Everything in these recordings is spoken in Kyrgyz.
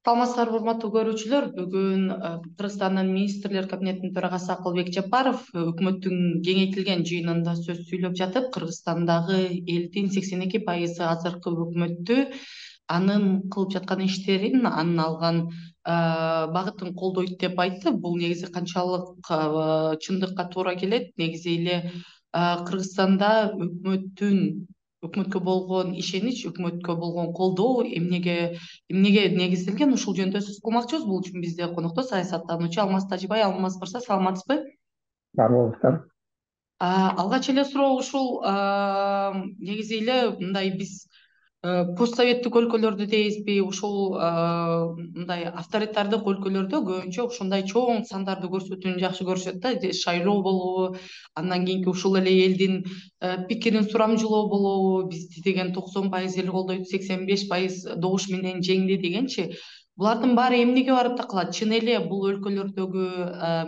Саламатсыздарбы, урматтуу көрүүчүлөр. Бүгүн Кыргызстандын министрлер кабинетинин төрагасы Акылбек Жапаров өкмөттүн кеңейтилген жыйынында сөз сүйлөп жатып, Кыргызстандагы элдин 82% азыркы өкмөттү анын кылып жаткан иштерин, анын алган багытын колдойт деп айтты. Бул негизи канчалык чындыкка туура келет? Негизи эле Кыргызстанда өкмөткө болгон ишенич, өкмөткө болгон колдоо эмнеге негизделген, ушул жөнүндө сөз кылмакчыбыз. Бул үчүн бизде конокто саясаттануучу Алмаз Тажибай. Алмаз мырза, саламатсызбы? Бар болуңуздар. Алгач эле суроо ушул, негизи эле мындай биз постсоветтик өлкөлөрдө дейбизби, ушул мындай авторитардык өлкөлөрдө көбүнчө ушундай чоң сандарды көрсөтүүнү жакшы көрүшөт да. Шайлоо болобу, андан кийинки ушул эле элдин пикирин сурамжылоо болобу, бизди деген 90% эл колдойт, 85% добуш менен жеңди дегенчи. Булардын баары эмнеге барып такалат? Чын эле бул өлкөлөрдөгү,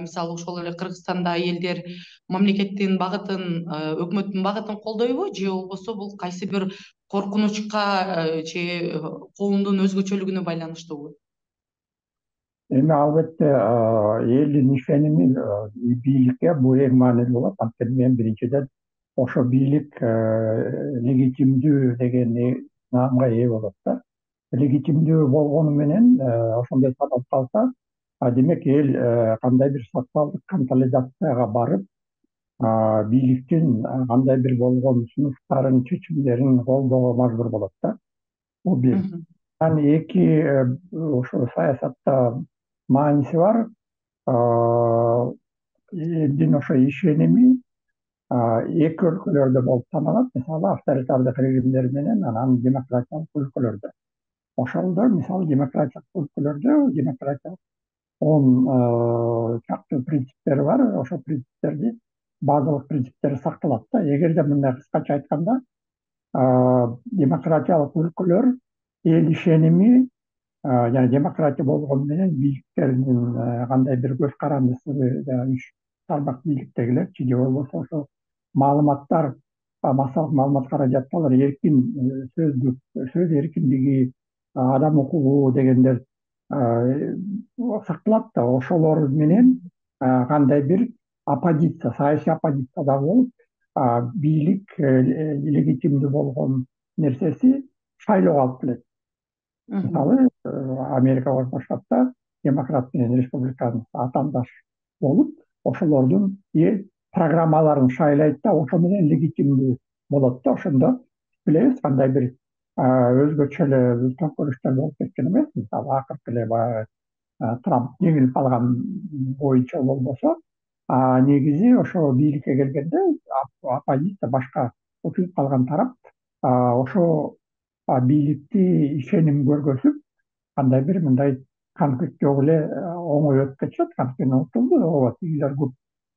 мисалы ошол эле Кыргызстанда элдер мамлекеттин багытын, өкмөттүн багытын колдойбу, же болбосо бул кайсы бир коркунучка же коомдун өзгөчөлүгүнө байланыштуубу? Эми албетте элдин ишеними бийликке бул эң маанилүү болот. Анткени мен биринчиден ошо бийлик легитимдүү деген наамга ээ болот да. Легитимдүү болгону менен ошондой саналып калса, демек эл кандай бир социалдык консолидацияга барып, бийликтин кандай бир болгон сунуштарын, чечимдерин колдоого мажбур болот да. Бул бир. Эки, ошо саясатта мааниси бар. Элдин ошо ишеними эки өлкөлөрдө болуп саналат. Мисалы, авторитардык режимдер менен анан демократиялык өлкөлөрдө. Ошолдо мисалы демократиялык өлкөлөрдө демократиялык 10 чакты принциптери бар. Ошол принциптерди, базалык принциптери сакталат да. Эгерде мындай кыскача айтканда, демократиялык өлкөлөр эл ишеними жана демократия болгону менен бийликтердин кандай бир көз карандысы, үч тармак бийликтегилерчи же болбосо ошо маалыматтар, массалык маалымат каражатталар, эркин сөз эркиндиги, адам укугу дегендер сакталат да. Ошолор менен кандай бир оппозиция, саясий оппозиция да болуп, бийлик легитимдүү болгон нерсеси шайлоого алып келет. Мисалы, Америка Коошмо Штаттар демократ менен республиканец атаандаш болуп, ошолордун программаларын шайлайт да, ошо менен легитимдүү болот да. Ошондо билебиз кандай бир өзгөчө эле төңкөрүштөр болуп кеткен эмес. Мисалы, акыркы эле баягы Трамп жеңилип калган боюнча болбосо, негизи ошо бийликке келгенде оппозиция, башка утулуп калган тарап ошо бийликти ишеним көргөзүп, кандай бир мындай конфликт жок эле оңой өтүп кетишет. Анткени утулду, ооба тигилер көп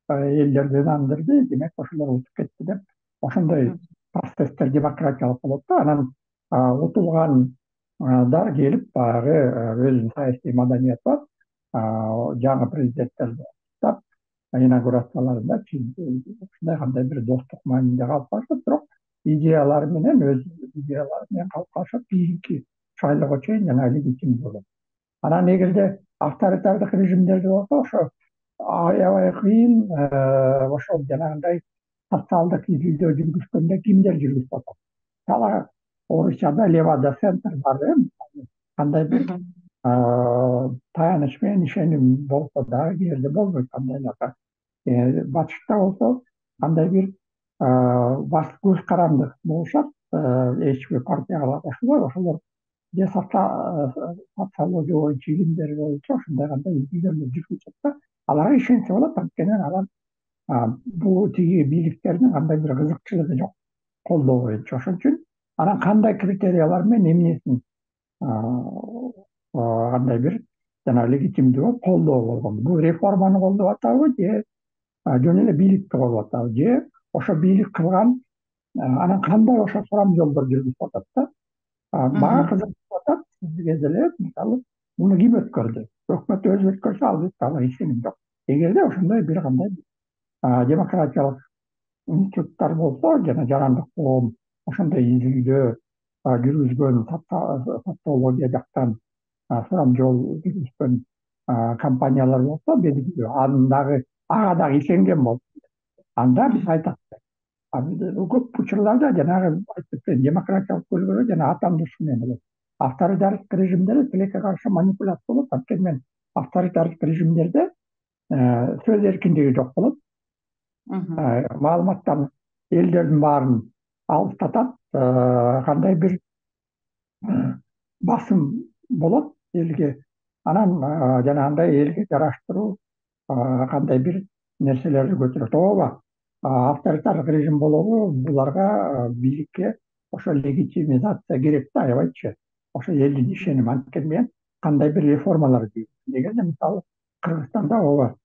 элдерди ынандырды, демек ошолор утуп кетти деп, ошондой процесстер демократиялык болот да. Анан утулгандар келип баягы өзүнүн саясий маданияты бар, жаңы президенттерди куттап, инаугурацияларында ушундай кандай бир достук маанилде калып калышат. Бирок идеялары менен, өз идеялары менен калып калышат, кийинки шайлоого чейин жана легитимдүү болот. Анан эгерде авторитардык режимдерде болсо, ошо аябай кыйын, ошол жанагындай социалдык изилдөө жүргүзгөндө кимдер жүргүзүп атат. Мисалы, Орусияда Левада центр бар, кандай бир таяныч менен ишеним болсо дагы кээ бирде болбойт. Кандайларга батышта болсо кандай бир көз каранды болушат, эч бир партияга кошулбой, ошолор же социология боюнча, илимдер боюнча ушундай кандай изилдөөлөр жүргүзүшөт да. Аларга ишенсе болот, анткени анан бул тиги бийликтердин кандай бир кызыкчылыгы жок колдоо боюнча. Ошон үчүн анан кандай критериялар менен эмнесин кандай бир жана легитимдүү болуп колдоо болгон. Бул реформаны колдоп атабы, же жөн эле бийликти колдоп атабы, же ошо бийлик кылган анан кандай ошо сурамжылоолор жүргүзүп атат да. Мага кызык атат сизге деле, мисалы, муну ким өткөрдү? Өкмөт өзү өткөрсө, албетте ага ишеним жок. Эгерде ошондой бир кандай демократиялык институттар болсо, жана жарандык коом ошондой изилдөө жүргүзгөн, социология жактан сурам жол жүргүзгөн компаниялар болсо белгилүү ага дагы ишенген болуп анда биз айтат көп учурларда жанагы демократиялык көйгөйлөр жана атамдыш эме болот. Авторитардык режимдерде тилекке каршы манипуляция болот. Анткени мен авторитардык режимдерде сөз эркиндиги жок болот. Маалыматтан элдердин баарын алыстатат. Кандай бир басым болот элге. Анан жанагындай элге жараштыруу кандай бир нерселерди көтөрөт. Ооба, авторитардык режим болобу буларга бийликке ошо легитимизация керек да, аябайчы. Ошо элдин ишеними. Анткени мен кандай бир реформалар дегенде мисалы Кыргызстанда ооба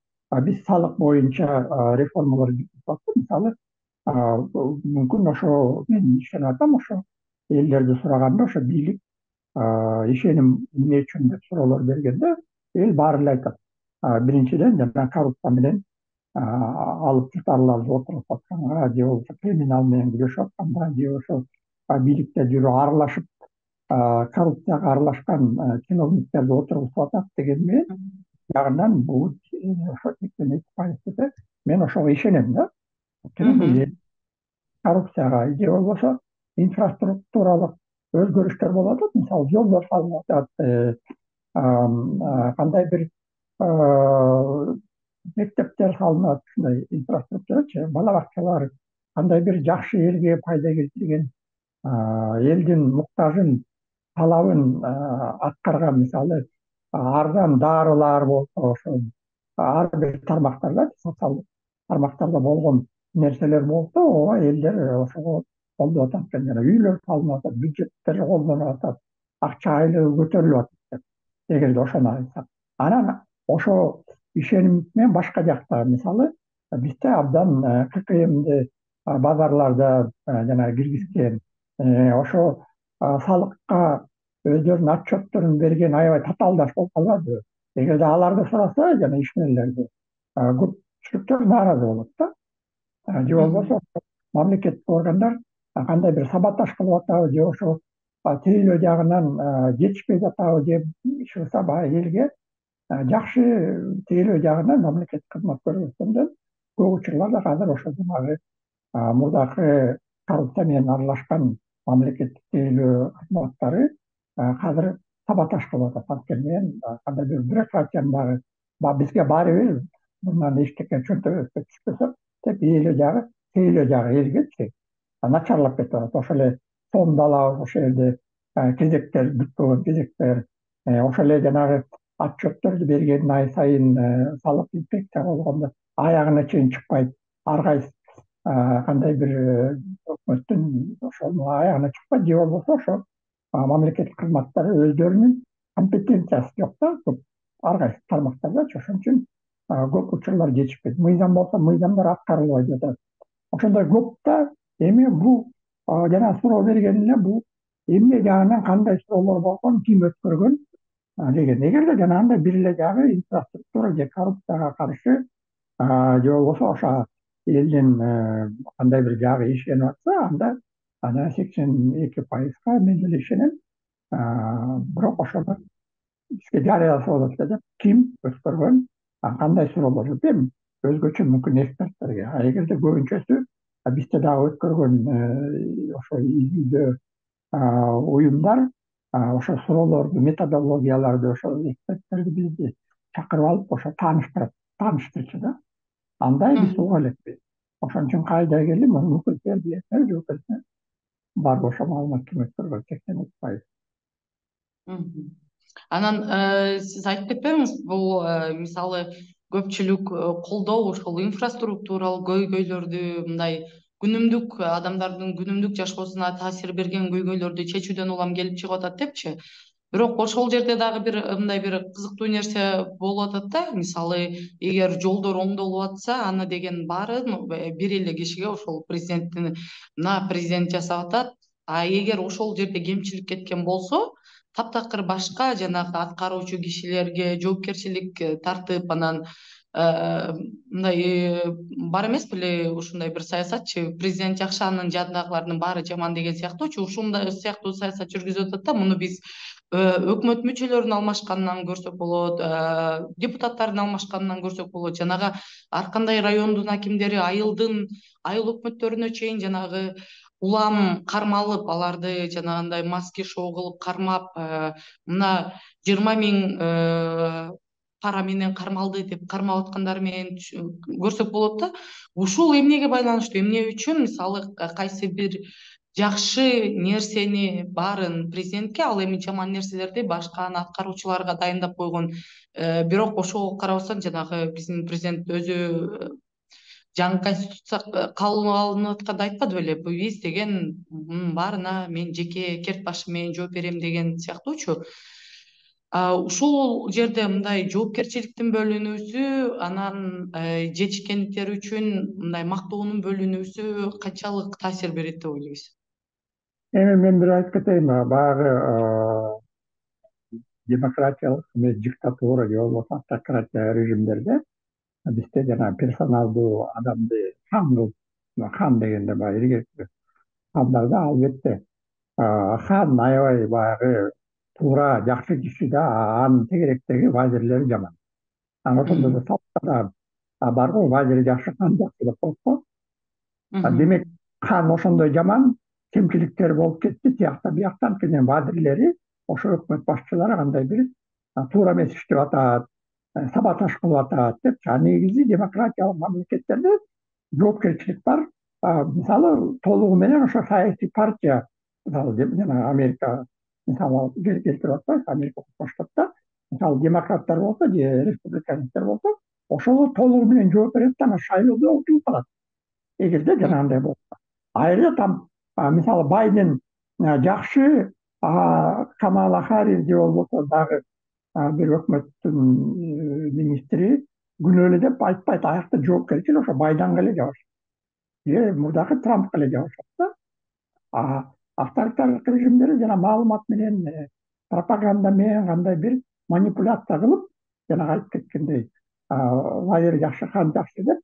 биз салык боюнча реформалар жүргүзүп атып, мисалы мүмкүн ошо мен ишенип атам, ошо элдерди сураганда ошо бийлик ишеним эмне үчүн деп суроолор бергенде эл баары эле айтат. Биринчиден жана коррупция менен алып жутарларды отуруп атканга, же болбосо криминал менен күрөшүп атканга, же болбосо бийликте жүрүп аралашып коррупцияга аралашкан чиновниктерди отургузуп атат деген менен жагынан бул ошо 82% десе мен ошого ишенем да. Коррупцияга же болбосо инфраструктуралык өзгөрүштөр болуп атат. Мисалы жолдор салынып атат, кандай бир мектептер салынат, ушундай инфраструктурачы, бала бакчалар, кандай бир жакшы элге пайда келтирген, элдин муктажын, талабын аткарган, мисалы арзан дарылар болсо, ошо ар бир тармактарда, социалдык тармактарда болгон нерселер болсо, ооба элдер ошого колдоп атат экен. Жана үйлөр салынып атат, бюджеттер колдонуп атат, акча айлыгы көтөрүлүп атат. Эгерде ошону айтсак, анан ошо ишеним менен башка жакта, мисалы бизде абдан ККМди базарларда жана киргизген, ошо салыкка өздөрүнүн отчетторун берген аябай татаалдаш болуп калбадыбы? Эгерде аларды сураса жана ишмерлерди, көпчүлүктөр нааразы болот да. Же болбосо мамлекеттик органдар кандай бир саботаж кылып атабы, же ошо тейлөө жагынан жетишпей жатабы деп иш кылса, баягы элге жакшы тейлөө жагынан мамлекеттик кызмат көрсөткөндөн көп учурларда азыр ошо жанагы мурдакы коррупция менен аралашкан мамлекеттик тейлөө кызматтары азыр саботаж кылып атат. Анткени мен кандай бир бюрократиянын дагы бизге баары бир мындан эчтеке чөнтөбөккө түшпөсө деп тейлөө жагы элгечи начарлап кетип атат. Ошо эле сомду алабыз, ошол жерде кезектер, бүткөн кезектер, ошол эле жанагы отчетторду берген ай сайын салык инспекция болгондо аягына чейин чыкпайт. Ар кайсы кандай бир өкмөттүн ошонун аягына чыкпайт, же болбосо ошо мамлекеттик кызматтары өздөрүнүн компетенциясы жок да, көп ар кайсы тармактардачы. Ошон үчүн көп учурлар жетишпейт. Мыйзам болсо мыйзамдар аткарылбай жатат. Ошондой көп да. Эми бул жана суроо берген эле бул эмне жагынан кандай суроолор болгон, ким өткөргөн деген. Эгерде жанагындай бир эле жагы инфраструктура же коррупцияга каршы же болбосо ошо элдин кандай бир жагы ишенип атса, анда анан 82%га мен деле ишенем. Бирок ошону бизге жарыяласа болот деп ким өткөргөн, кандай суроолор эми өзгөчө мүмкүн эксперттерге. Эгерде көбүнчөсү бизде дагы өткөргөн ошо изилдөө уюмдар ошо суроолорду, методологияларды, ошо эксперттерди бизди чакырып алып ошо тааныштырчу да. Андай биз уга элекпиз. Ошон үчүн кайда келип мүмкүн билесиңер, барбы ошо маалымат ким өткөргөн 82%. Анан сиз айтып кетпеңиз, бул мисалы көпчүлүк колдоо ошол инфраструктуралык көйгөйлөрдү, мындай күнүмдүк адамдардын күнүмдүк жашоосуна таасир берген көйгөйлөрдү чечүүдөн улам келип чыгып атат депчи. Бирок ошол жерде дагы бир мындай бир кызыктуу нерсе болуп атат да. Мисалы эгер жолдор оңдолуп атса, аны деген баарын бир эле кишиге ошол президент жасап атат. А эгер ошол жерде кемчилик кеткен болсо, таптакыр башка жанагы аткаруучу кишилерге жоопкерчилик тартып, анан мындай бар эмес беле ушундай бир саясатчы, президент жакшы, анын жанындагылардын баары жаман деген сыяктуучу, ушундай сыяктуу саясат жүргүзүп атат да. Муну биз өкмөт мүчөлөрүнүн алмашканынан көрсөк болот, депутаттардын алмашканынан көрсөк болот. Жанагы ар кандай райондун акимдери айыл өкмөттөрүнө чейин жанагы улам кармалып, аларды жанагындай маски шоу кылып кармап, мына 20 000 пара менен кармалды деп кармап аткандары менен көрсөк болот да. Ушул эмнеге байланыштуу, эмне үчүн мисалы кайсы бир жакшы нерсени баарын президентке, ал эми жаман нерселерди башка аткаруучуларга дайындап койгон. Бирок ошого карабастан жанагы биздин президент өзү жаңы конституция кабыл алынып атканда айтпады беле, биз деген баарына мен жеке керт башым менен жооп берем деген сыяктуучу. Ушул жерде мындай жоопкерчиликтин бөлүнүүсү, анан жетишкендиктер үчүн мындай мактоонун бөлүнүүсү канчалык таасир берет деп ойлойсуз? Эми мен бир айтып кетейин, баягы демократиялык эмес диктатура же болбосо автократия режимдерде бизде жана персоналдуу адамды хан кылып, хан дегенде баягы илгерки хандарда албетте хан аябай баягы туура жакшы киши да, анын тегеректеги вазирлери жаман. Анан ошондо да салттар бар го, вазири жакшы, хан жакшы деп коет го. Демек хан ошондой жаман, кемчиликтери болуп кетти, тиякта бияктан анткени вазирлери, ошо өкмөт башчылары кандай бир туура эмес иштеп атат, саботаж кылып атат деп. Негизи демократиялык мамлекеттерде жоопкерчилик бар. Мисалы толугу менен ошо саясий партия, мисалы жана Америка мисалы келтирип атпайбы, Америка Кошмо Штатта мисалы демократтар болсо же республиканецтер болсо, ошого толугу менен жооп берет да, анан шайлоодо утулуп калат. Эгерде жанагындай болсо. Айры там мисалы Байден жакшы, Камала Харрис же болбосо дагы бир өкмөттүн министри күнөөлүү деп айтпайт. Аякта жоопкерчилик ошо Байденге эле жабышат. Же мурдагы Трампка эле жабышат да. Авторитарлык режимдер жана маалымат менен, пропаганда менен кандай бир манипуляция кылып, жанагы айтып кеткендей, вазир жакшы, хан жакшы деп,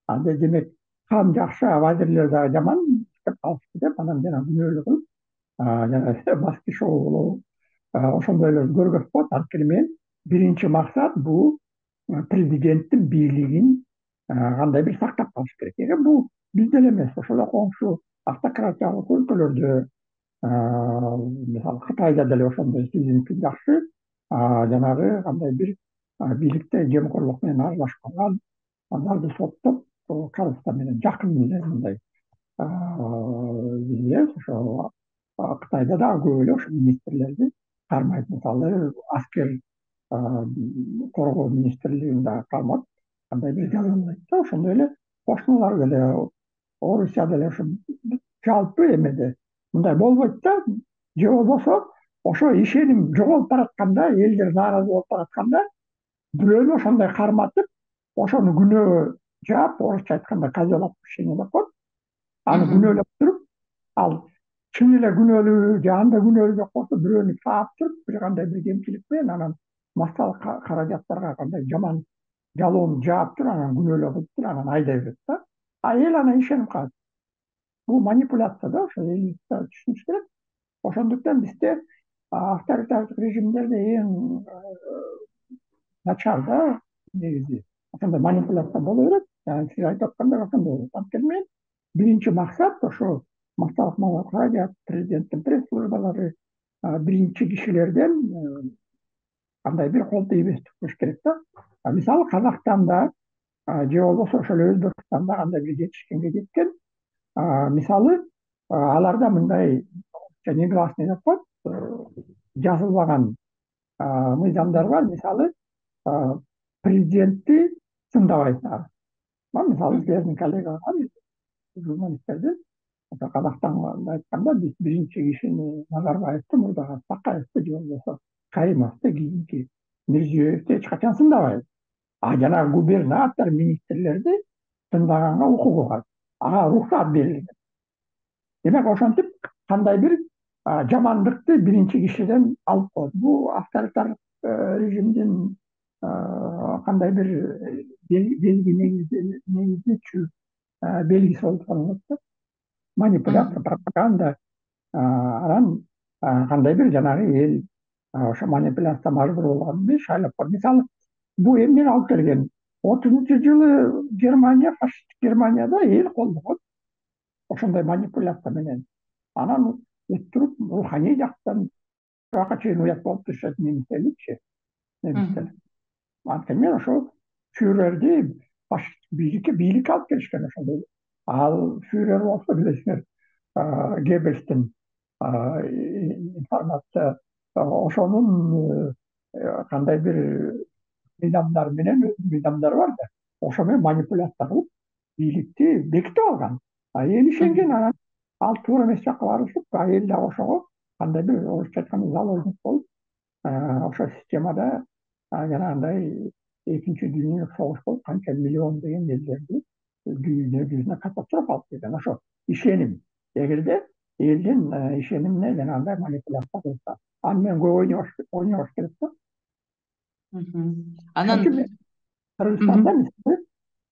анда демек хан жакшы, вазирлер дагы жаман деп калышты деп, анан жана күнөөлүү кылып, жана маски шоу болобу, ошондойлорду көргөзүп коет. Анткени мен биринчи максат бул президенттин бийлигин кандай бир сактап калыш керек. Бул бизде эле эмес, ошол эле коңшу автократиялык өлкөлөрдө, мисалы Кытайда деле ошондой Си жакшы, жанагы кандай бир бийликте жемкорлук менен аралашкан аларды соттоп, Казакстан менен жакын эле мындай биз билебиз. Ошо Кытайда дагы көп эле ошо министрлерди кармайт. Мисалы аскер коргоо министрлигин дагы кармап, кандай бир жазалайт да. Ошондой эле кошуналар деле, Орусия деле ошо жалпы эмеде мындай болбойт да. Же болбосо ошо ишеним жоголуп баратканда, элдер нааразы болуп баратканда, бирөөнү ошондой карматып, ошону күнөө жаап, орусча айтканда козел отпущения деп коет. Аны күнөөлөп туруп, ал чын эле күнөөлүү же анда күнөөлүү жок болсо, бирөөнү саап туруп, бир кандай бир кемчилик менен анан массалык каражаттарга кандай жаман жалоону жаап туруп, анан күнөөлүү кылып туруп, анан айдай берет да. Эл анан ишенип калат. Бул манипуляция да, ошо эл түшүнүш керек. Ошондуктан бизде авторитардык режимдерде эң начар да негизи ошондой манипуляция боло берет. Сиз айтып аткандай ошондой болот. Анткени мен биринчи максат ошо массалык маалымат, президенттин пресс-службалары, биринчи кишилерден кандай бир кол тийбестик болуш керек да. Мисалы Казакстанда же болбосо ошол Өзбекстанда кандай бир жетишкенге жеткен, мисалы аларда мындай негласный деп коет, жазылбаган мыйзамдар бар. Мисалы президентти сындабайсыңар. Мисалы силердин коллега бар, журналисттердин Казакстанда айтканда, биз биринчи кишини Назарбаевди, мурдагы Такаевди же болбосо Каримовди, кийинки Мирзиёевди эч качан сындабайбыз. Жанагы губернатор, министрлерди сындаганга укугу бар. Ага уруксаат берилген. Демек ошентип кандай бир жамандыкты биринчи кишиден алып коет. Бул авторитарлык режимдин кандай бир негиздечү белгиси болуп саналат да. Манипуляция, пропаганда, анан кандай бир жанагы эл ошо манипуляция мажбур болгон эмес, шайлап коюп. Мисалы, бул эмнени алып келген? 30-жылы Германия, фашисттик Германияда эл колдогон ошондой манипуляция менен. Анан өттүрүп руханий жактан буяка чейин уят болуп турушат немистерчи, немистер. Анткени ошо фюрерди фашисттик бийликке алып келишкен ошондой. Ал фюрер болсо билесиңер, Геббельстин информация ошонун кандай бир мыйзамдары менен, мыйзамдары бар да, ошо менен манипуляция кылып бийликти бекитип алган. Эл ишенген, анан ал туура эмес жакка барышып, эл дагы ошого кандай бир орусча айтканда заложник болуп, ошол системада жанагындай экинчи дүйнөлүк согуш болуп канча миллион деген элдерди дүйнө жүзүнө катастрофа алып келген. Ошо ишеним. Эгерде элдин ишенимине жанагындай манипуляция кылса, аны менен көп ойнобош керек да. Анан Ошон үчүн Кыргызстанда мисалы,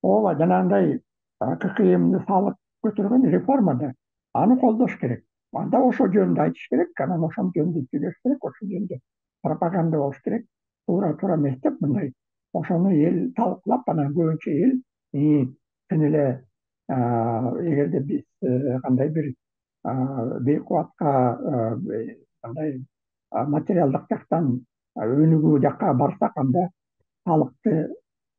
ооба жанагындай ККМди салык көтөргөн реформада аны колдош керек. Анда ошол жөнүндө айтыш керек, анан ошол жөнүндө сүйлөш керек, ошол жөнүндө пропаганда болуш керек. Туура эмес деп мындай ошону эл талкуулап, анан көбүнчө эл чын эле эгерде биз кандай бир бейкубатка кандай материалдык жактан өнүгүү жакка барсак, анда салыкты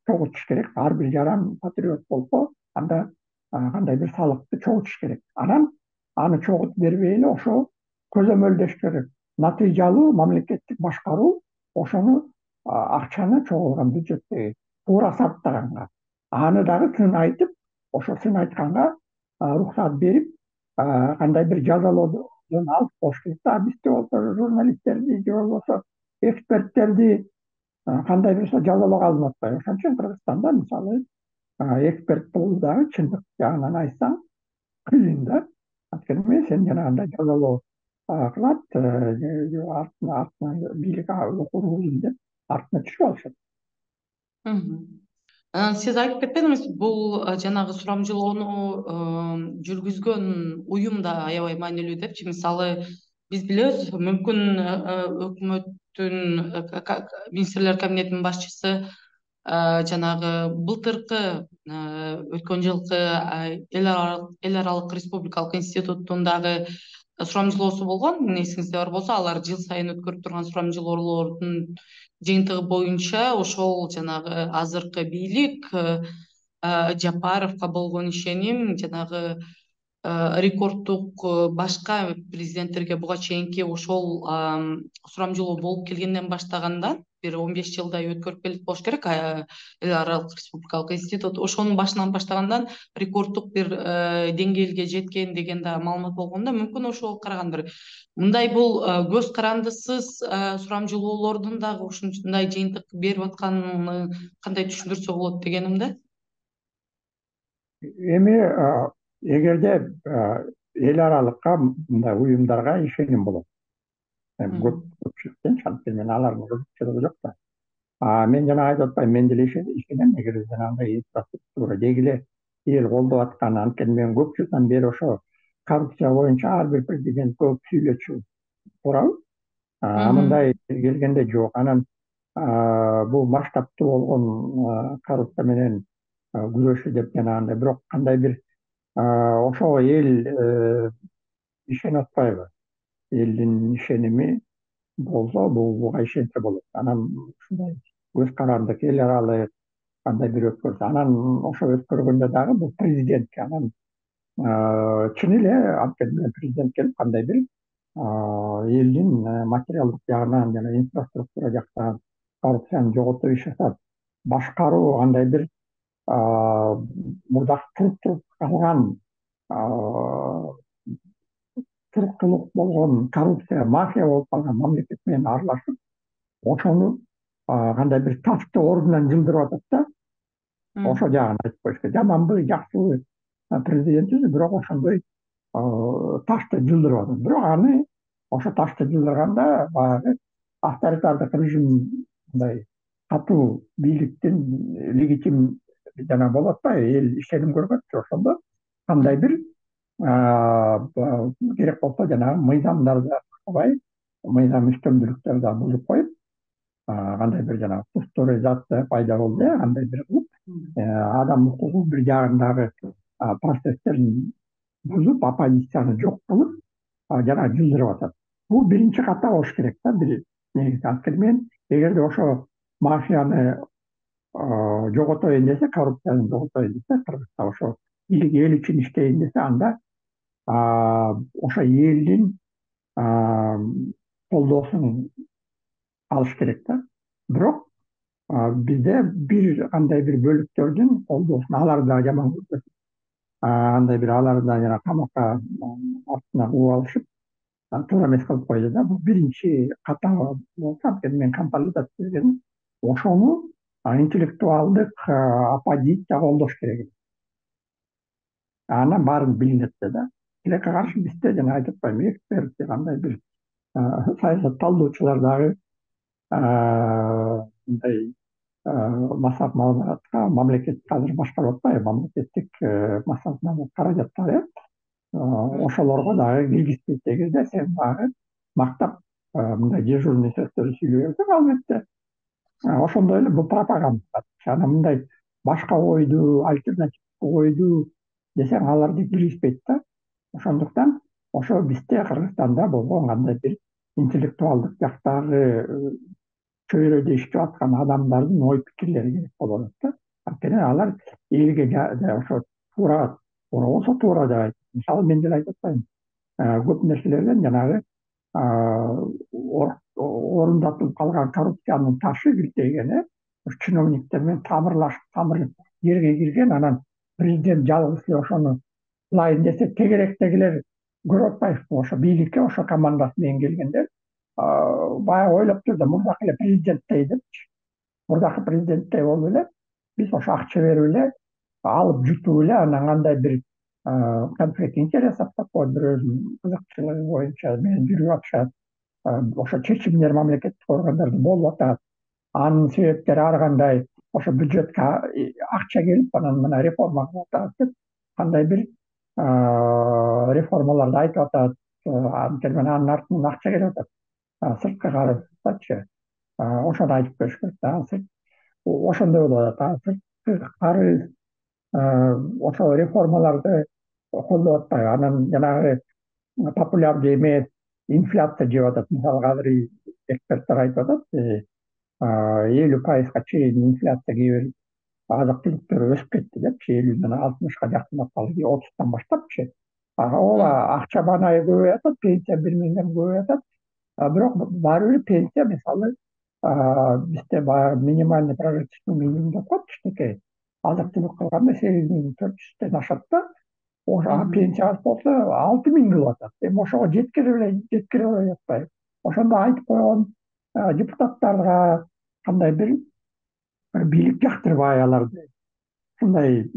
чогултуш керек. Ар бир жаран патриот болсо, анда кандай бир салыкты чогултуш керек. Анан аны чогултуп бербей эле ошо көзөмөлдөш керек. Натыйжалуу мамлекеттик башкаруу ошону акчаны чогулган бюджеттеги туура сарптаганга, аны дагы сын айтып, ошо сын айтканга уруксат берип, кандай бир жазалоодон алып коюш керек да. Бизде болсо журналисттерди же болбосо эксперттерди кандай бир жазалоого алынып атпайбы. Ошон үчүн Кыргызстанда мисалы эксперт болуу дагы чындык жагынан айтсаң кыйын да. Анткени сен жанагындай жазалоо кылат, артынан бийлик окуйм деп артына түшүп алышат. Анан сиз айтып кетпедиңизби, бул жанагы сурамжылоону жүргүзгөн уюм да аябай маанилүү депчи. Мисалы, биз билебиз, мүмкүн өкмөттүн министрлер кабинетинин башчысы жанагы былтыркы өткөн жылкы эл аралык республикалык институттун дагы сурамжылоосу болгон. Эсиңизде бар болсо, алар жыл сайын өткөрүп турган сурамжылоолордун жыйынтыгы боюнча ошол жанагы азыркы бийлик Жапаровго болгон ишеним жанагы рекорддук башка президенттерге буга чейинки ошол сурамжылоо болуп келгенден баштагандан бир 15 жылдай өткөрүп келип болуш керек. Эл аралык республикалык институт ошонун башынан баштагандан рекорддук бир деңгээлге жеткен деген да маалымат болгон да. Мүмкүн ошого караганда мындай бул көз карандысыз сурамжылоолордун дагы ушундай жыйынтык берип атканын кандай түшүндүрсө болот дегеним да. Эми эгерде эл аралыкка мындай уюмдарга ишеним болот. Көпчүлүктөн анткени мен алардын кызыкчылыгы жок да. Мен жана айтып атпайм, мен деле ишенем, эгер жанагындай инфраструктура деги эле эл колдоп аткан. Анткени мен көп жылдан бери ошо коррупция боюнча ар бир президент көп сүйлөчү турабы. Мындай келгенде жок. Анан бул масштабтуу болгон коррупция менен күрөшүү деп жанагындай, бирок кандай бир ошого эл ишенип атпайбы? Элдин ишеними болсо, буга ишенсе болот. Анан ушундай көз карандык эл аралык кандай бир өткөрсө, анан ошо өткөргөндө дагы бул президентке, анан чын эле анткени президент келип кандай бир элдин материалдык жагынан жана инфраструктура жактан коррупцияны жоготуу иш жасап, башкаруу кандай бир мурда туруп калган турукчулук болгон коррупция, мафия болуп калган мамлекет менен аралашып, ошону кандай бир ташты ордунан жылдырып атат да. Ошол жагын айтып коюш керек. Жаманбы, жакшыбы президентибиз, бирок ошондой ташты жылдырып атат. Бирок аны ошо ташты жылдырганда баягы авторитардык режим, мындай катуу бийликтин легитим жана болот да, эл ишеним көрбөтчү. Ошондо кандай бир керек болсо жанагы мыйзамдарды сактабай, мыйзам үстөмдүүлүктөрдү да бузуп коюп, кандай бир жанагы пасторизация пайда болду, кандай бир кылып адам укугу бир жагындагы процесстерин бузуп, оппозицияны жок кылып, жанагы жылдырып атат. Бул биринчи ката болуш керек да, бир негизи. Анткени мен эгерде ошо мафияны жоготоюн десе, коррупцияны жоготоюн десе, Кыргызстан ошо бийлик эл үчүн иштейин десе, анда ошо элдин колдоосун алыш керек да. Бирок бизде бир кандай бир бөлүктөрдүн колдоосун алар да жаман көрбөсүн. Андай бир алар да жана камакка артына кууп алышып, туура эмес кылып койду да. Бул биринчи ката болсо, анткени мен консолидация дегеним ошону интеллектуалдык оппозиция колдош керек. Анан баарын билинет да. Тилекке каршы бизде жана айтып атпаймынбы, эксперт кандай бир саясат талдоочулар дагы мындай массалык маалыматка мамлекет азыр башкарып атпайбы, мамлекеттик массалык маалымат каражаттары ошолорго дагы киргизбейт. Эгерде сен дагы мактап мындай дежурный сөздөрдү сүйлөй берсең, албетте ошондой эле бул пропаганда. Анан мындай башка ойду, альтернативдүү ойду десең, аларды киргизбейт да. Ошондуктан ошо бизде Кыргызстанда болгон кандай бир интеллектуалдык жактагы чөйрөдө иштеп аткан адамдардын ой пикирлери керек болуп атат да. Анткени алар элге ошо туура болсо туура деп айтат. Мисалы, мен деле айтып атпаймынбы, көп нерселерден жанагы орундатылып калган коррупциянын ташы киртейген, чиновниктер менен тамыр жерге кирген, анан президент жалгыз эле ошону кылайын десе, тегеректегилер көрүп атпайбызбы, ошо бийликке ошо командасы менен келгендер баягы ойлоп тур да, мурдакы эле президенттей депчи, мурдакы президенттей болуп эле биз ошо акча берип эле алып жутуп эле, анан кандай бир конфликт интересов такой, бирөөнүн кызыкчылыгы боюнча менен жүрүп атышат. Ошо чечимдер мамлекеттик органдарда болуп атат. Анын себептери ар кандай, ошо бюджетке акча келип, анан мына реформа кылып атат деп кандай бир реформаларды айтып атат. Анткени анын артынан акча келип атат. Сырткы карыздачы ошону айтып бериш керек да. Ошондой болуп атат. Сырткы карыз ошо реформаларды колдоп атпайбы. Анан жанагы популярдуу эмес инфляция жеп атат. Мисалы, азыр эксперттер айтып атат, 50% чейин инфляция кээ бир азык түлүктөр өсүп кетти депчи, 50-ден 60-ка жакындап калды, 30-тан баштапчы. Ооба, акча банайы көбөйүп атат, пенсия 1 миңден көбөйүп атат. Бирок баары бир пенсия, мисалы, бизде баягы минимальный прожиточный минимум деп коет кичинекей. Азык түлүк кылганда 8400-ден ашат да. Ошо пенсия аз болсо 6000 кылып атат. Эми ошого жеткире атпайбы. Ошондо айтып койгон депутаттарга кандай бир бийлик жактырбай аларды ушундай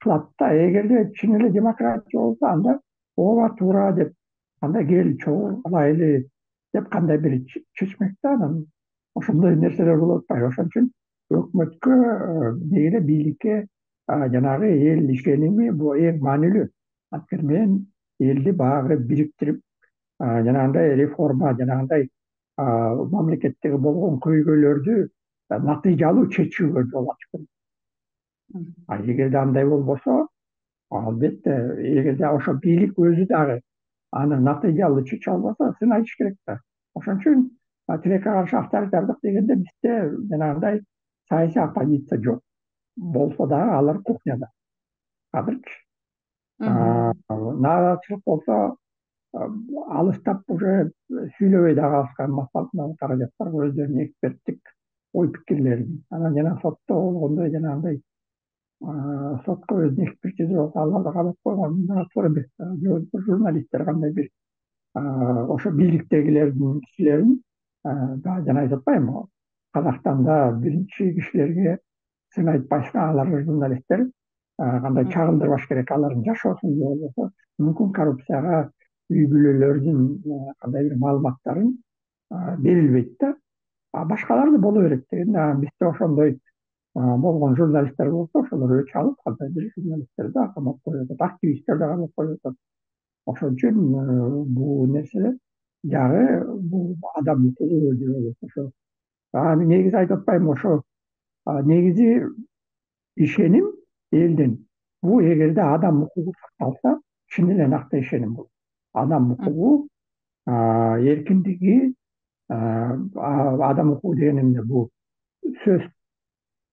кылат да. Эгерде чын эле демократия болсо, анда ооба туура деп, кандай кел чогуу кылайлы деп кандай бир чечмек да. Анан ошондой нерселер болуп атпайбы. Ошон үчүн өкмөткө деги эле бийликке жанагы эл ишеними бул эң маанилүү. Анткени мен элди баягы бириктирип, жанагындай реформа, жанагындай мамлекеттеги болгон көйгөйлөрдү натыйжалуу чечүүгө жол ачыш керек. Эгерде андай болбосо, албетте, эгерде ошо бийлик өзү дагы аны натыйжалуу чече албаса, сынайыш керек да. Ошон үчүн тилекке каршы авторитардык дегенде бизде жанагындай саясий оппозиция жок. Болсо дагы алар кухняда азырчы. Нааразычылык болсо, алыстап уже сүйлөбөй да калышкан массалык каражаттар өздөрүнүн эксперттик ой пикирлерин. Анан жана сотто болгондой жанагындай сотко өзүнүн экспертиза болсо, аларды кабап койгон туура эмес. Журналисттер кандай бир ошо бийликтегилердин кишилерин, жана айтып атпаймынбы, Казакстанда биринчи кишилерге сын айтпашка, алар журналисттер кандай чагылдырбаш керек, алардын жашоосун же болбосо мүмкүн коррупцияга үй бүлөлөрүнүн кандай бир маалыматтарын берилбейт да. Башкалар да боло берет деген. Бизде ошондой болгон журналисттер болсо, ошолор өч алып, кандай бир журналисттерди да камап коюп атат, активисттерди камап коюп атат. Ошон үчүн бул нерселер жагы бул адам укугу деп ойлойт. Ошо негизи айтып атпаймынбы, ошо негизи ишеним элдин. Бул эгерде адам укугу сакталса, чын эле накты ишеним бул. Адам укугу, эркиндиги, адам укугу деген эмне? Бул сөз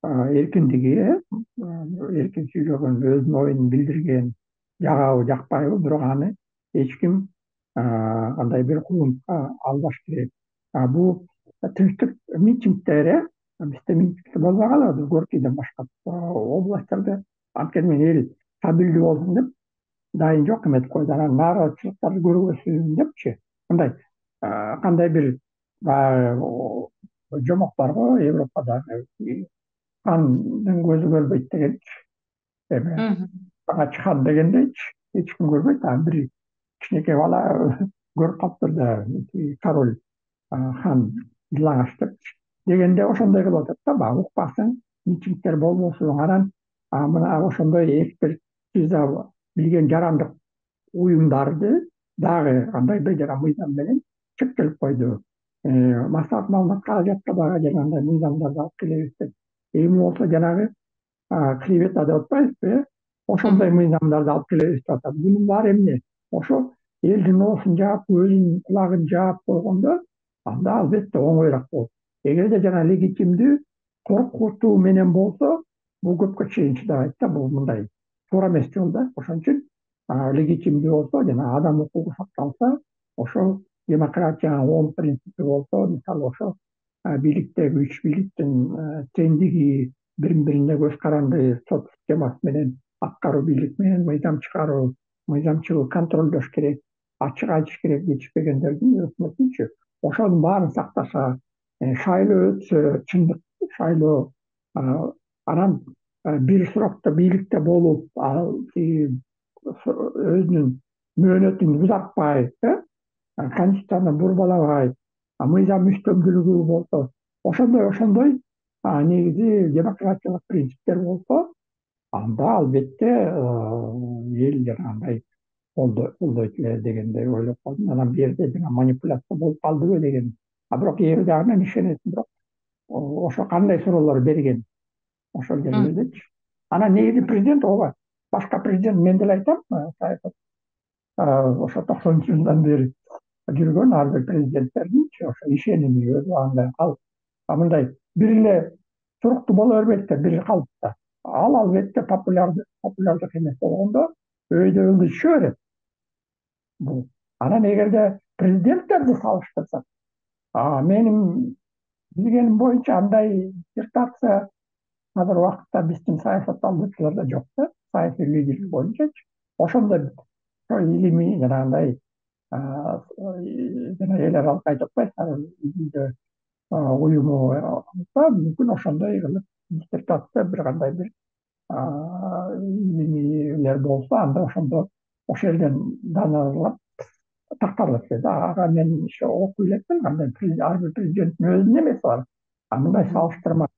эркиндиги, эркин сүйлөгөн, өзүнүн оюн билдирген, жагабы жакпайбы, бирок аны эч ким кандай бир куугунтукка албаш керек. Бул тынчтык митингдер, бизде митингдер болбой калабы, Горкийден башка областьтарда анткени эл стабилдүү болсун деп дайын жок эметип койду. Анан нааразычылыктарды көрбөсүн депчи, мындай кандай бир баягы жомок барго Европадагы хандын көзү көрбөйт дегенчи, эме ачык хан дегендейчи, эч ким көрбөйт. Бир кичинекей бала көрүп калыптыр да, король хан жылаңач депчи дегенде ошондой кылып атат да, баягы укпасың, митингдер болбосун. Анан мына ошондой экспертиза билген жарандык уюмдарды дагы кандайдыр жана мыйзам менен чектелип койду. Массалык маалымат каражатка дагы жанагындай мыйзамдарды алып келебиз деп. Эми болсо жанагы клевета деп атпайбызбы, ошондой мыйзамдарды алып келебиз деп атат. Бунун баары эмне? Ошо элдин оосун жаап, көзүн кулагын жаап койгондо анда албетте оңоюраак болот. Эгерде жана легитимдүү коркутуу менен болсо, бул көпкө чейин чыдабайт да, бул мындай туура эмес жол да. Ошон үчүн легитимдүү болсо жана адам укугу сакталса, ошол демократиянын 10 принципи болсо, мисалы ошо бийликтеги үч бийликтин теңдиги, бирин бирине көз каранды сот системасы менен аткаруу бийлик менен мыйзам чыгаруу, мыйзамчыл контролдош керек, ачык айтыш керек, жетишпегендердин өкмөтүнчү. Ошонун баарын сактаса, шайлоо өтсө, чындык шайлоо, анан бир срокто бийликте болуп, ал өзүнүн мөөнөтүн узартпай, конституцияны бурбалабай, мыйзам үстөмдүүлүгү болсо, ошондой негизи демократиялык принциптер болсо, анда албетте эл жанагындай колдойт эле дегендей ойлоп калдым. Анан бул жерде жана манипуляция болуп калдыбы деген. Бирок эл дагы ишенет, бирок ошо кандай суроолор берген ошол жерлердечи. Анан негизи президент ооба, башка президент мен деле айтам, саясат ошо 90 жылдан бери жүргөн ар бир президенттердинчи ошо ишеними өз убагында калып, мындай бир эле туруктуу боло бербейт да, бир калыпта. Ал албетте популярдык эмес болгондо өйдө түшө берет. Бул анан эгерде президенттерди салыштырсак, менин билгеним боюнча андай диссертация азыр убакытта биздин саясаттануучуларда жок да, саясий лидерлик боюнчачы. Ошондой илимий жанагындай жана эл аралык айтып атпайбызбы, уюму болсо мүмкүн ошондой кылып диссертация бир кандай бир илимилер болсо, анда ошондо ошол жерден даналап такталат эле да. Ага мен окуй элекмин, кандай ар бир президенттин өзүнүн эмеси бар. Мындай салыштырма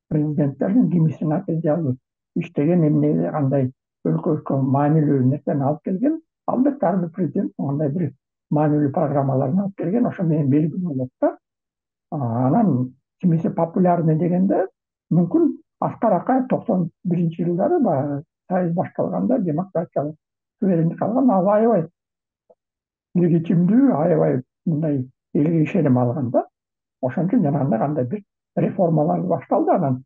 президенттердин кимиси натыйжалуу иштеген, эмне кандай өлкөгө маанилүү нерсени алып келген, албетте ар бир президент кандай бир маанилүү программаларын алып келген, ошо менен белгилүү болот да. Анан кимиси популярный дегенде мүмкүн Аскар Акаев 91 жылдары баягы сайыс башталганда демократиялык суверендик алган, ал аябай легитимдүү, аябай мындай элге ишеним алган да. Ошон үчүн жанагындай кандай бир реформалар башталды. Анан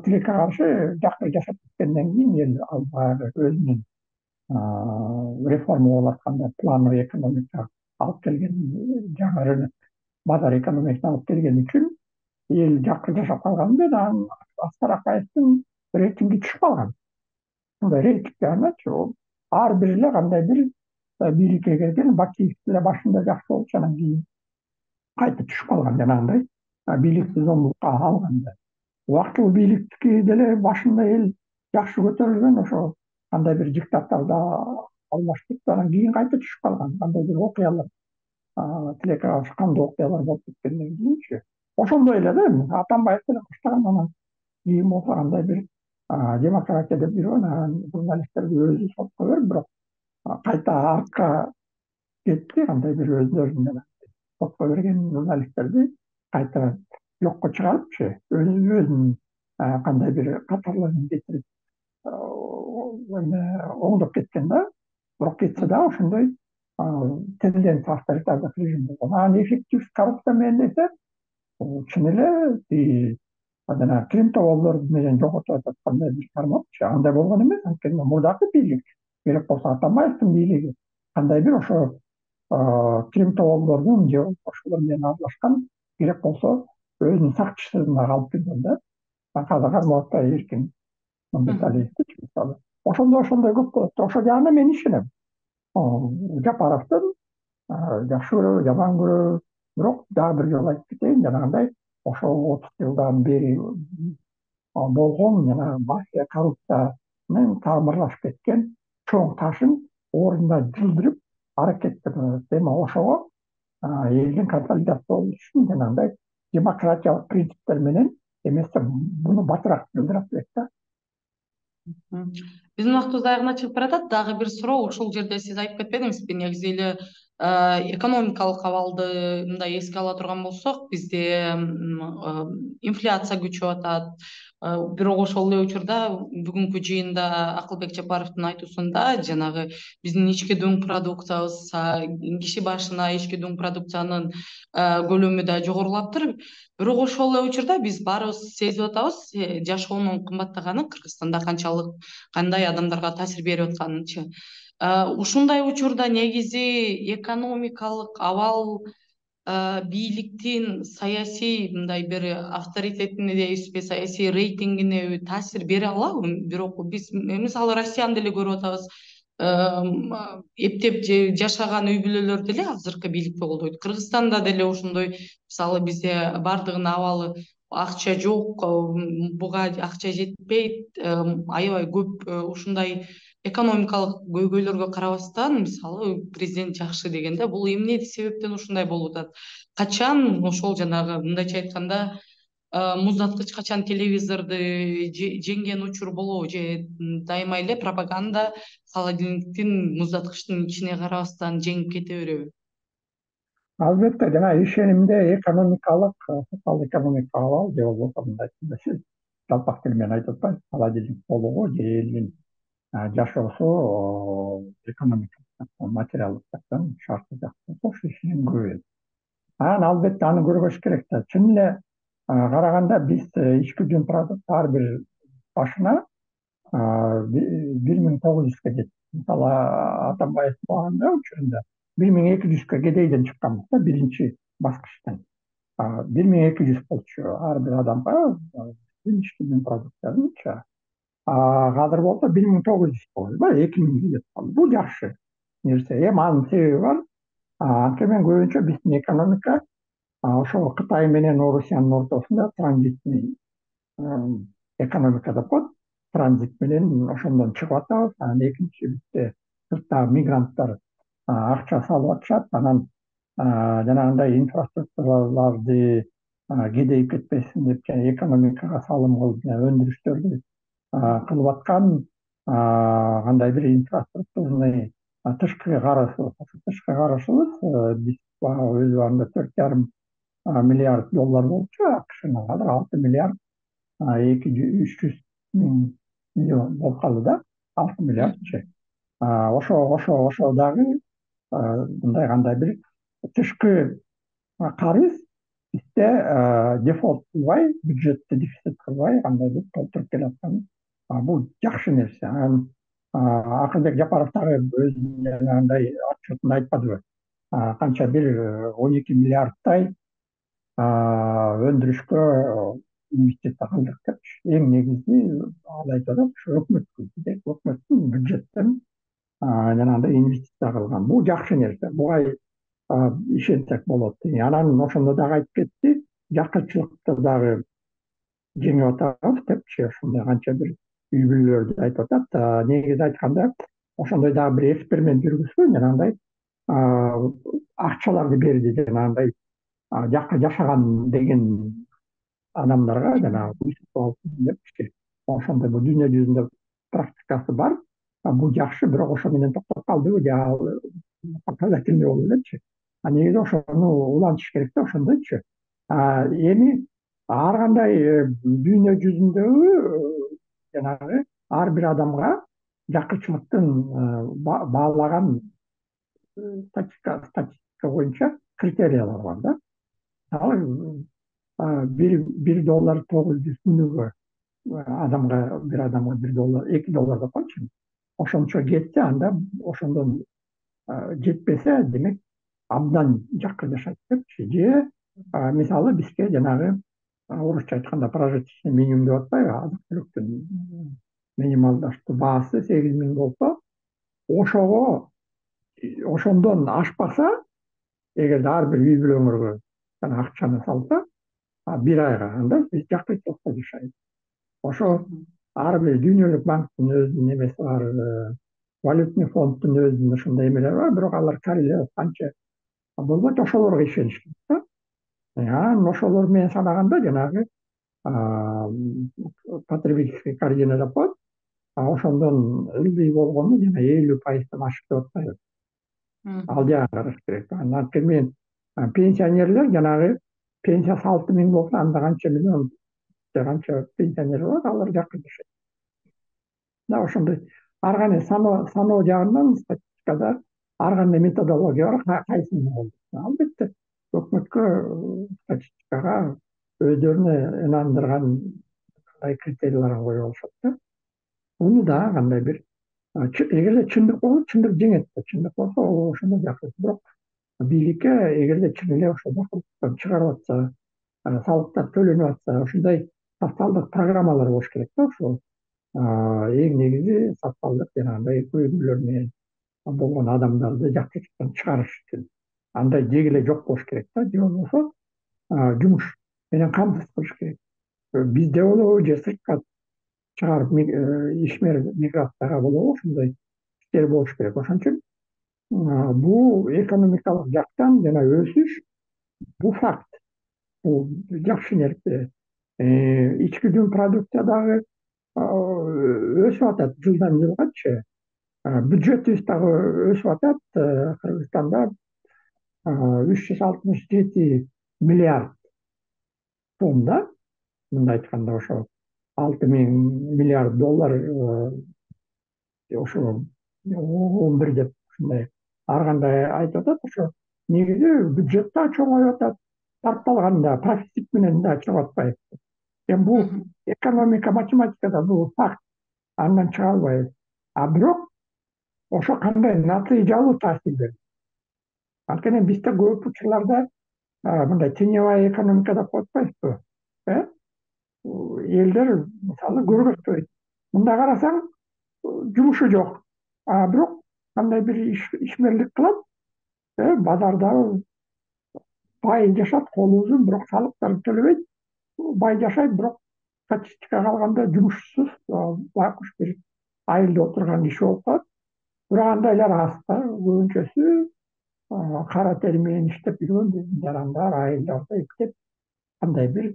тилекке каршы жакшы жашап кеткенден кийин эл ал баягы өзүнүн реформа болуп атканда плановый экономика алып келген, жаңы базар экономикасына алып келген үчүн эл жакшы жашап калган да, анан Аскар Акаевдин рейтинги түшүп калган. Мындай рейтингде аначы ар бир эле кандай бир бийликке келген, Бакиев деле башында жакшы болчу, анан кийин кайта түшүп калган жанагындай бийликти зомбулукка алганда. Убактылуу бийликти деле башында эл жакшы көтөрүлгөн, ошо кандай бир диктатордо алмаштырып, анан кийин кайта түшүп калган, кандай бир окуялар, тилекке каршы кандуу окуялар болуп кеткенден кийинчи. Ошондой эле да, Атамбаев деле баштаган, анан кийин болсо кандай бир демократия деп жүргөн, анан журналисттерди өзү сотко берип, бирок кайта артка кетти, кандай бир өздөрүнүн сотко берген журналисттерди кайта жокко чыгарыпчы, өзүнүн кандай бир катарларын кетирип оңдоп кеткен да. Бирок кетсе да ошондой тенденция авторитардык режим болгон. Анан эффективдүү коррупция менен десе, чын эле жана Крим табоолору менен жоготуп аткандай бир тармакчы. Андай болгон эмес, анткени мурдакы бийлик керек болсо Атамбаевдин бийлиги кандай бир ошо Крим табоолордун же ошолор менен аралашкан керек болсо өзүнүн сакчысына калып жүргөн да. Казыр Кармаловдой эркин Мамбеталиевдичи мисалы. Ошондой көп болот. Ошол жагына мен ишенем. Жапаровдун жакшы көрөбү, жаман көрөбү, бирок дагы бир жолу айтып кетейин, жанагындай ошол 30 жылдан бери болгон жана мафия коррупцияны тамырлашып кеткен чоң ташын ордунда жылдырып аракеттенет. Эми ошого элдин консолидация болуш үчүн жанагындай демократиялык принциптер менен эмесе буну батыраак жылдырат элек да. Биздин убактыбыз аягына чыгып баратат. Дагы бир суроо, ушул жерде сиз айтып кетпедиңизби, негизи эле экономикалык абалды мындай эске ала турган болсок, бизде инфляция күчөп атат. Бирок ошол эле учурда бүгүнкү жыйында Акылбек Жапаровдун айтуусунда жанагы биздин ички дуң продукциябыз, киши башына ички дуң продукциянын көлөмү да жогорулаптыр. Бирок ошол эле учурда биз баарыбыз сезип атабыз жашоонун кымбаттаганын, Кыргызстанда кандай адамдарга таасир берип атканынчы. Ушундай учурда негизи экономикалык абал бийликтин саясий мындай бир авторитетине дейбизби, саясий рейтингине таасир бере алабы? Бирок биз мисалы Россияны деле көрүп атабыз. Эптеп жашаган үй бүлөлөр деле азыркы бийликти колдойт. Кыргызстанда деле ошондой, мисалы бизде бардыгынын абалы акча жок, буга акча жетпейт, аябай көп ушундай экономикалык көйгөйлөргө карабастан, мисалы президент жакшы дегенде, бул эмне себептен ушундай болуп атат? Качан ошол жанагы мындайча айтканда муздаткыч качан телевизорду жеңген учур болобу, же дайыма эле пропаганда холодильниктин муздаткычтын ичине карабастан жеңип кете береби? Албетте, жана ишенимде экономикалык, социалдык экономикалык абал же болбосо мындай сиз жалпак тил менен айтып атпайсыз, холодильник толугу же элдин жашоосу экономикалык материалдык жактан шарты жакшы болсо ошо ишенем көп. Анан албетте аны көрбөш керек да. Чын эле караганда биз ички жүн продукт ар бир башына 1900-га жетти. Мисалы Атамбаев болгондо учурунда 1200-га кедейден чыкканбыз да биринчи баскычтан. 1200 болчу ар бир адамга ички жүн продукттарынча. Азыр болсо 1900 болду, 2000 жетип калды. Бул жакшы нерсе. Эми анын себеби бар. Анткени мен көбүнчө биздин экономика ошо Кытай менен Орусиянын ортосунда транзитный экономика деп коет. Транзит менен ошондон чыгып атабыз. Анан экинчи бизде сырттагы мигранттар акча салып атышат. Анан жанагындай инфраструктураларды кедейип кетпесин деп экономикага салым кылып өндүрүштөрдү кылып аткан кандай бир инфраструктурный тышкы карашыбыз. Тышкы карашыбыз биз өз убагында 4,5 миллиард доллар болчу, АКШнын азыр 6 миллиард 300 миллион болуп калды да, 6 миллиардчы. Ошо дагы мындай кандай бир тышкы карыз бизде дефолт кылбай, бюджетти дефицит кылбай кандай бир толтуруп келаткан. Бул жакшы нерсе. Анан Акылбек Жапаров дагы өзүнүн жанагындай отчетунда айтпадыбы? Канча бир 12 миллиардтай өндүрүшкө инвестиция кылдык депчи. Эң негизи ал айтып атат, ушу өкмөттүн бюджеттен жанагындай инвестиция кылган. Бул жакшы нерсе. Буга ишенсек болот. Анан ошондо дагы айтып кетти, жакырчылыкты дагы жеңип атабыз депчи. Ошондой канча бир үй бүлөлөрдү айтып атат. Негизи айтканда ошондой дагы бир эксперимент жүргүзгөн, жанагындай акчаларды берди, жанагындай жакка жашаган деген адамдарга жанагы уйсуп алсын депчи. Ошондой бул дүйнө жүзүндө практикасы бар. Бул жакшы, бирок ошо менен токтоп калдыбы же показательный болуп элечи. негизи ошону улантыш керек да, ошондойчу. Эми ар кандай дүйнө жүзүндөгү жанагы ар бир адамга жакырчылыктын баалаган статистика боюнча критериялар бар да. Мисалы бир доллар 900 күнүгө бир адамга $1, $2 деп койчу. Ошончо кетсе, анда ошондон жетпесе, демек абдан жакыр жашайт депчи. Же мисалы бизге жанагы орусча айтканда прожиточный минимум деп атпайбы, азык-түлүктүн минималдаштуу баасы 8.000 болсо, ошондон ашпаса, эгерде ар бир үй бүлөңөргө акчаны салса, бир айга, анда биз жакырчылыкта жашайбыз. Ошо ар бир дүйнөлүк банктын өзүнүн эмеси бар, валютный фонддун өзүнүн ошондой эмелери бар, бирок алар корреляция канча болбойт, ошолорго ишениш керек да. Анан ошолор менен санаганда жанагы потребительский корзина деп коет. Ошондон ылдый болгону жана 50%-тан ашык деп атпайбы. Ал жагын караш керек. Анткени пенсионерлер жанагы пенсиясы 6.000 болсо, анда канча миллион канча пенсионер бар, алар жакыр жашайт. Да, ошондой ар кандай саноо жагынан статистикада ар кандай методология бар, кайсысын колдойт. Албетте өкмөткө статистикага өздөрүнө ынандырган критерийлерин коюп алышат да. Муну да кандай бир эгерде чындык болсо, чындык жеңет да. Чындык болсо, ошондо жакыр. Бирок бийликке эгерде чын эле ошо жакыртыктан чыгарып атса, салыктар төлөнүп атса, ошондой социалдык программалар болуш керек да. Ошол эң негизи социалдык жанагындай көйгөйлөр менен болгон адамдарды жакыртыктан чыгарыш үчүн андай деги эле жок болуш керек да. Же болбосо жумуш менен камсыз кылыш керек. Бизде болобу же сыртка чыгарып ишмер миграцияга болобу, ошондой иштер болуш керек. Ошон үчүн бул экономикалык жактан жана өсүш бул факт. Бул жакшы нерсе. Ички жүн продукция дагы өсүп атат жылдан жылгачы. Бюджетибиз дагы өсүп атат. Кыргызстанда 367 миллиард сом да. Мындай айтканда ошо 6.000 миллиард доллар, ошо 11 деп ушундай ар кандай айтып атат. Ошо негизи бюджет да чоңоюп атат, тарпталганда профицит менен да чыгып атпайбы. Эми бул экономика, математикада бул факт, андан чыга албайбыз. Бирок ошо кандай натыйжалуу таасир берет. Анткени бизде көп учурларда мындай теневая экономика деп коюп атпайбызбы? Элдер мисалы көргөзбөйт. Мында карасаң жумушу жок. Бирок кандай бир ишмерлик кылат, базарда бай жашат, колу узун, бирок салыктарды төлөбөйт. Бай жашайт, бирок статистикага алганда жумушсуз, байкуш бир айылда отурган киши болуп калат. Бирок андайлар аз да. Көбүнчөсү кара тери менен иштеп жүргөн жарандар, айылдарда иштеп, кандай бир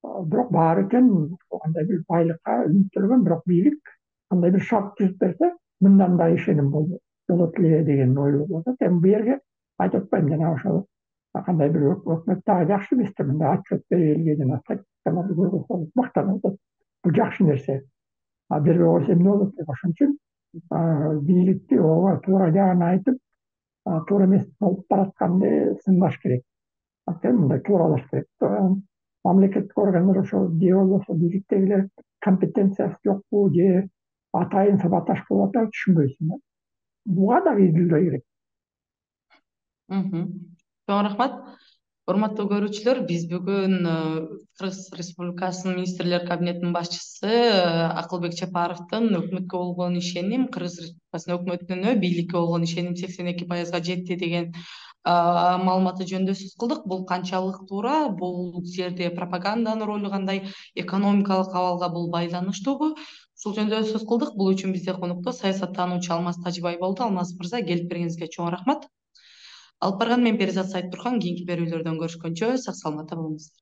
бирок баары тең кандай бир байлыкка үмүттөнгөн, бирок бийлик кандай бир шарт түзүп берсе, мындан да ишеним болот эле деген ой болуп атат. Эми бу жерге айтып атпайм, жана ошол кандай бир өкмөт дагы жакшы бизде мындай отчет берип элге жана статистикаларды көргөзсө мактанып атат. Бул жакшы нерсе. Бербей койсо эмне болот деп. Ошон үчүн бийликти ооба туура жагын айтып, туура эмес болуп баратканды сынбаш керек. Анткени мындай тууралаш керек. Мамлекеттик органдар ошо же болбосо бийликтегилер компетенциясы жокпу, же атайын сабаташ болуп атабы, түшүнбөйсүң да. Буга дагы изилдөө керек. Чоң рахмат. Урматтуу көрүүчүлөр, биз бүгүн Кыргыз Республикасынын Министрлер Кабинетинин башчысы Акылбек Чапаровдун өкмөткө болгон ишеним, Кыргыз Республикасынын өкмөтүнө бийликке болгон ишеним 82%-га жетти деген маалыматы жөнүндө сөз кылдык. Бул канчалык туура? Бул жерде пропаганданын ролу кандай? Экономикалык абалга бул байланыштуубу? Ушул жөнүндө сөз кылдык. Бул үчүн бизде конокто саясаттануучу Алмаз Тажибай болду. Алмаз мырза, келип бергениңизге чоң рахмат. Алып барган мен Перизат Сайыптурхан. Кийинки берүүлөрдөн көрүшкөнчө сак саламатта болуңуздар.